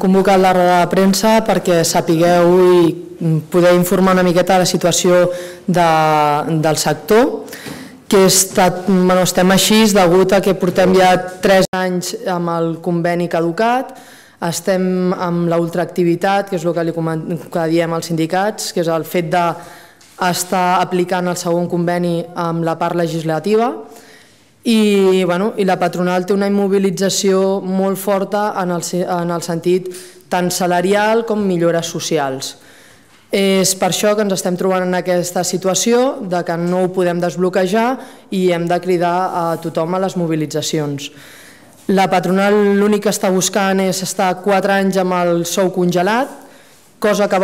convocat la roda de premsa perquè sapigueu i poder informar una miqueta de la situació del sector, que estem així degut a que portem ja 3 anys amb el conveni caducat, estem amb l'ultraactivitat, que és el que diem als sindicats, que és el fet d'estar aplicant el segon conveni amb la part legislativa, i la patronal té una immobilització molt forta en el sentit tant salarial com millores socials. És per això que ens estem trobant en aquesta situació de que no ho podem desbloquejar i hem de cridar a tothom a les mobilitzacions. La patronal l'únic que està buscant és estar 4 anys amb el sou congelat, cosa que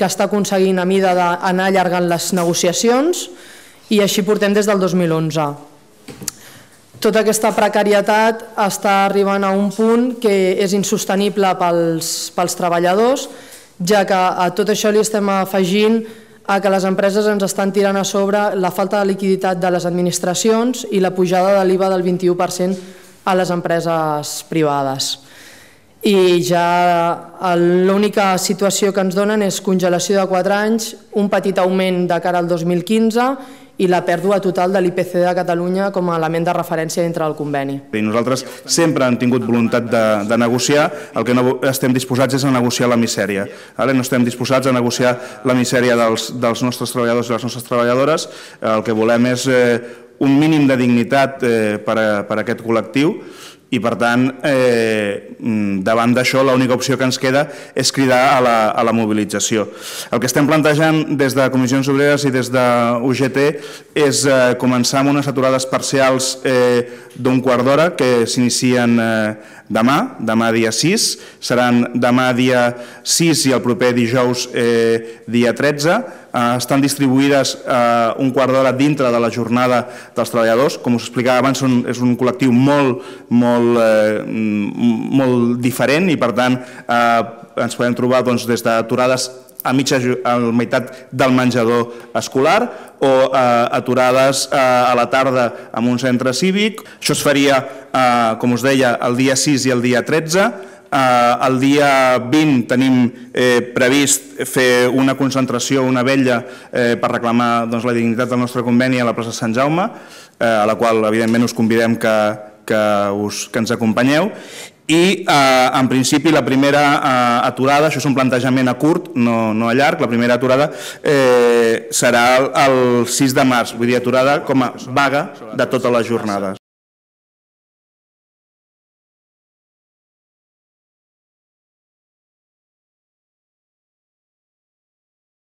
està aconseguint a mida d'anar allargant les negociacions, i així portem des del 2011. Tota aquesta precarietat està arribant a un punt que és insostenible pels treballadors, ja que a tot això li estem afegint que les empreses ens estan tirant a sobre la falta de liquiditat de les administracions i la pujada de l'IVA del 21% a les empreses privades. I ja l'única situació que ens donen és congelació de 4 anys, un petit augment de cara al 2015 i la pèrdua total de l'IPC de Catalunya com a element de referència dintre del conveni. Nosaltres sempre hem tingut voluntat de negociar, el que no estem disposats és a negociar la misèria. No estem disposats a negociar la misèria dels nostres treballadors i les nostres treballadores, el que volem és un mínim de dignitat per a aquest col·lectiu, i per tant, davant d'això, l'única opció que ens queda és cridar a la mobilització. El que estem plantejant des de Comissions Obreres i des d'UGT és començar amb unes aturades parcials d'un quart d'hora que s'inicien demà dia 6, seran demà dia 6 i el proper dijous dia 13, estan distribuïdes un quart d'hora dintre de la jornada dels treballadors. Com us explicava abans, és un col·lectiu molt diferent i per tant ens podem trobar des d'aturades a la meitat del menjador escolar o aturades a la tarda en un centre cívic. Això es faria, com us deia, el dia 6 i el dia 13. El dia 20 tenim previst fer una concentració, una vetlla per reclamar la dignitat del nostre conveni a la plaça Sant Jaume, a la qual evidentment us convidem que ens acompanyeu. I en principi la primera aturada, això és un plantejament a curt, no a llarg, la primera aturada serà el 6 de març, vull dir aturada com a vaga de totes les jornades.